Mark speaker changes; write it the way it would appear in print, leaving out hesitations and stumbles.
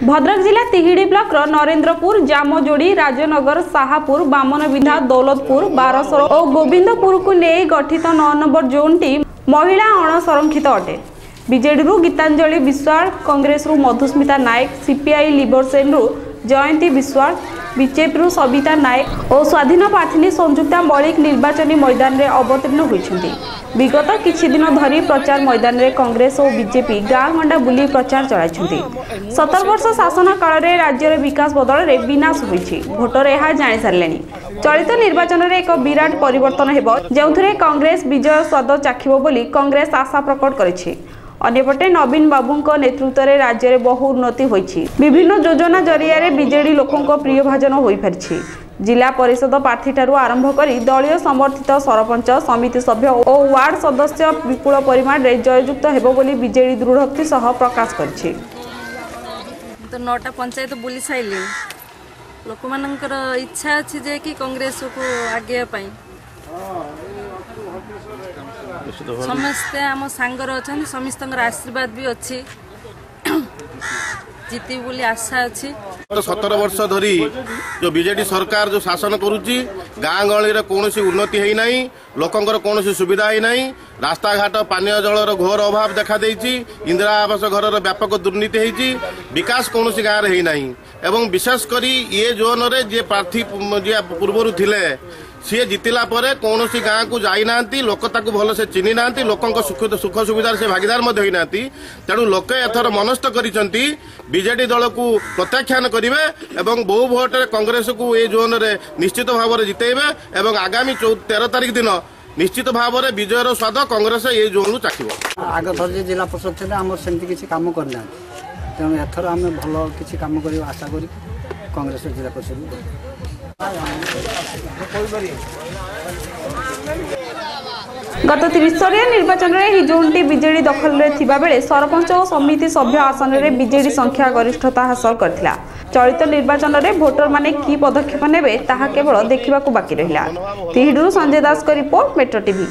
Speaker 1: ଭଦ୍ରକ ଜିଲ୍ଲା ତିହିଡ଼ି ବ୍ଲକର ନରେନ୍ଦ୍ରପୁର, ଜାମଯୋଡ଼ି, ରାଜନଗର, ସାହାପୁର, ବାମନବିନ୍ଧା, ଦୌଲତପୁର, ବାରସର ଓ ଗୋବିନ୍ଦପୁରକୁ ନେଇ ଗଠିତ 9 ନମ୍ବର ଜୋନ୍ଟି ମହିଳା ଅଣସଂରକ୍ଷିତ ଅଟେ। ବିଜେଡିରୁ ଗୀତାଞ୍ଜଳି ବିଶ୍ୱାଳ, କଂଗ୍ରେସରୁ ମଧୁସ୍ମିତା ନାୟକ, ସିପିଆଇ ଲିବରସେନ୍ରୁ ଜୟନ୍ତୀ ବିଶ୍ୱାଳ, ବିଜେପିରୁ ସବିତା ନାୟକ ଓ ସ୍ୱାଧୀନ ପ୍ରାର୍ଥିନୀ ସଂଯୁକ୍ତା ମଳିକ ନିର୍ବାଚନୀ ମଇଦାନରେ ଅବତୀର୍ଣ୍ଣ ହୋଇଛନ୍ତି। ବିଗତ କିଛି ଦିନ ଧରି ପ୍ରଚାର ମଇଦାନରେ କଂଗ୍ରେସ ଓ ବିଜେପି ଗାଁ ଗଣ୍ଡା ବୁଲି ପ୍ରଚାର ଚଳାଇଛନ୍ତି। 17 ବର୍ଷ ଶାସନ କାଳରେ ରାଜ୍ୟର ବିକାଶ ବଦଳରେ ବିନାଶ ହୋଇଛି। ଭୋଟର ଏହା ଜାଣିସାରିଲେଣି। ଚଳିତ ନିର୍ବାଚନରେ ଏକ ବିରାଟ ପରିବର୍ତ୍ତନ ହେବ, ଯେଉଁଥିରେ କଂଗ୍ରେସ ବିଜୟ ସ୍ୱାଦ ଚାଖିବ ବୋଲି କଂଗ୍ରେସ ଆଶା ପ୍ରକଟ କରିଛି। ଅନ୍ୟପଟେ ନବୀନ ବାବୁଙ୍କ ନେତୃତ୍ୱରେ ରାଜ୍ୟରେ ବହୁ ଉନ୍ନତି ହୋଇଛି। ବିଭିନ୍ନ ଯୋଜନା ଜରିଆରେ ବିଜେଡି ଲୋକଙ୍କ ପ୍ରିୟଭାଜନ ହୋଇପାରିଛି। ଜିଲ୍ଲା ପରିଷଦ ପ୍ରାର୍ଥୀଠାରୁ ଆରମ୍ଭ କରି ଦଳୀୟ ସମର୍ଥିତ ସରପଞ୍ଚ, ସମିତି ସଭ୍ୟ ଓ ୱାର୍ଡ ସଦସ୍ୟ ବିପୁଳ ପରିମାଣରେ ଜୟଯୁକ୍ତ ହେବ ବୋଲି ବିଜେଡି ଦୃଢ଼ୋକ୍ତି ସହ ପ୍ରକାଶ କରିଛି।
Speaker 2: ତ 9ଟା ପଞ୍ଚାୟତ ବୁଲି ସାରିଲି। ଲୋକମାନଙ୍କର ଇଚ୍ଛା ଅଛି ଯେ କି କଂଗ୍ରେସକୁ ଆଗେଇବା ପାଇଁ। ସମସ୍ତେ ଆମ ସାଙ୍ଗରେ ଅଛନ୍ତି, ସମସ୍ତଙ୍କର ଆଶୀର୍ବାଦ ବି ଅଛି, ଜିତିବୁ ବୋଲି ଆଶା ଅଛି।
Speaker 3: 17 ବର୍ଷ ଧରି ଯୋଉ ବିଜେଡି ସରକାର ଯୋଉ ଶାସନ କରୁଛି, ଗାଁ ଗହଳିରେ କୌଣସି ଉନ୍ନତି ହେଇନାହିଁ, ଲୋକଙ୍କର କୌଣସି ସୁବିଧା ହେଇନାହିଁ। ରାସ୍ତାଘାଟ, ପାନୀୟ ଜଳର ଘୋର ଅଭାବ ଦେଖାଦେଇଛି। ଇନ୍ଦିରା ଆବାସ ଘରର ବ୍ୟାପକ ଦୁର୍ନୀତି ହେଇଛି। ବିକାଶ କୌଣସି ଗାଁରେ ହେଇନାହିଁ। ଏବଂ ବିଶେଷ କରି ଇଏ ଜୋନରେ ଯିଏ ପ୍ରାର୍ଥୀ, ଯିଏ ପୂର୍ବରୁ ଥିଲେ, ସିଏ ଜିତିଲା ପରେ କୌଣସି ଗାଁକୁ ଯାଇନାହାନ୍ତି। ଲୋକ ତାକୁ ଭଲସେ ଚିହ୍ନି ନାହାନ୍ତି। ଲୋକଙ୍କ ସୁଖ ସୁବିଧାରେ ସେ ଭାଗିଦାର ମଧ୍ୟ ହେଇନାହାନ୍ତି। ତେଣୁ ଲୋକେ ଏଥର ମନସ୍ଥ କରିଛନ୍ତି, ବିଜେଡି ଦଳକୁ ପ୍ରତ୍ୟାଖ୍ୟାନ କରିବେ ଏବଂ ବହୁ ଭୋଟରେ କଂଗ୍ରେସକୁ ଏ ଜୋନରେ ନିଶ୍ଚିତ ଭାବରେ ଜିତେଇବେ ଏବଂ ଆଗାମୀ 13 ତାରିଖ ଦିନ ନିଶ୍ଚିତ ଭାବରେ ବିଜୟର ସ୍ୱାଦ କଂଗ୍ରେସ ଏ ଜୋନରୁ ଚାଖିବ।
Speaker 4: ଆଗ ଥର ଯେ ଜିଲ୍ଲା ପରିଷଦ ଥିଲେ, ଆମର ସେମିତି କିଛି କାମ କରିନାହାନ୍ତି। ତେଣୁ ଏଥର ଆମେ ଭଲ କିଛି କାମ କରିବୁ ଆଶା କରି କଂଗ୍ରେସ ଜିଲ୍ଲା ପରିଷଦ।
Speaker 1: ଗତ ତ୍ରିସ୍ତରୀୟ ନିର୍ବାଚନରେ ଏହି ଜୋନ୍ଟି ବିଜେଡି ଦଖଲରେ ଥିବାବେଳେ ସରପଞ୍ଚ ଓ ସମିତି ସଭ୍ୟ ଆସନରେ ବିଜେଡି ସଂଖ୍ୟା ଗରିଷ୍ଠତା ହାସଲ କରିଥିଲା। ଚଳିତ ନିର୍ବାଚନରେ ଭୋଟରମାନେ କି ପଦକ୍ଷେପ ନେବେ, ତାହା କେବଳ ଦେଖିବାକୁ ବାକି ରହିଲା। ତିହିଡ଼ିରୁ ସଞ୍ଜୟ ଦାସଙ୍କ ରିପୋର୍ଟ, ମେଟ୍ରୋ ଟିଭି।